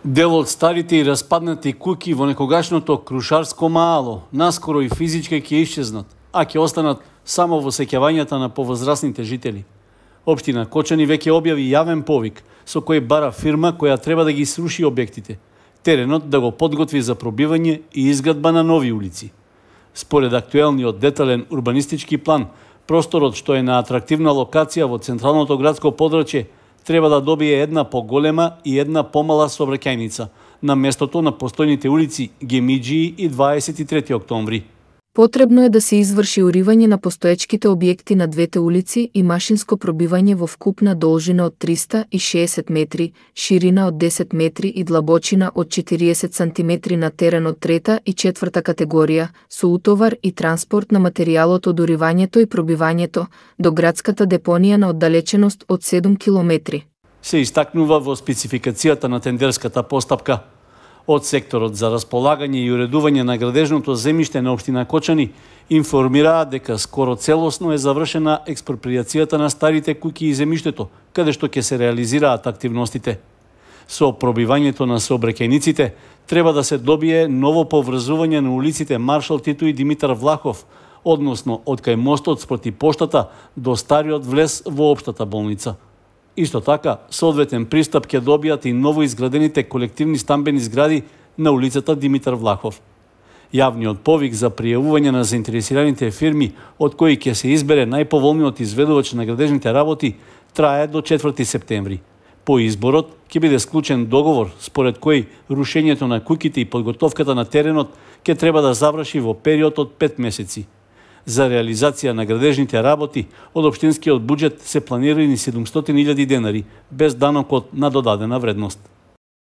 Дел од старите и распаднати куќи во некогашното Крушарско мало наскоро и физички ќе исчезнат, а ќе останат само во сеќавањата на повозрасните жители. Општина Кочани веќе објави јавен повик со кој бара фирма која треба да ги сруши објектите, теренот да го подготви за пробивање и изградба на нови улици. Според актуелниот детален урбанистички план, просторот што е на атрактивна локација во централното градско подрачје треба да добие една поголема и една помала сообраќајница на местото на постојните улици Гемиџии и 23 октомври. Потребно е да се изврши уривање на постоечките објекти на двете улици и машинско пробивање во вкупна должина од 360 метри, ширина од 10 метри и длабочина од 40 сантиметри на терен од трета и четврта категорија, со утовар и транспорт на материјалот од уривањето и пробивањето до градската депонија на оддалеченост од 7 километри. Се истакнува во спецификацијата на тендерската постапка. Од секторот за располагање и уредување на градежното земјиште на општина Кочани информираат дека скоро целосно е завршена експроприацијата на старите куќи и земјиштето, каде што ќе се реализираат активностите. Со пробивањето на сообраќајниците треба да се добие ново поврзување на улиците Маршал Тито и Димитар Влахов, односно од кај мостот спроти поштата до стариот влез во општата болница. Исто така, соодветен пристап ќе добијат и ново изградените колективни стамбени згради на улицата Димитар Влахов. Јавниот повик за пријавување на заинтересираните фирми, од кои ќе се избере најповолниот изведувач на градежните работи, трае до 4 септември. По изборот ќе биде склучен договор според кој рушењето на куќите и подготовката на теренот ќе треба да заврши во период од 5 месеци. За реализација на градежните работи од општинскиот буџет се планирани 700.000 денари, без данокот на додадена вредност.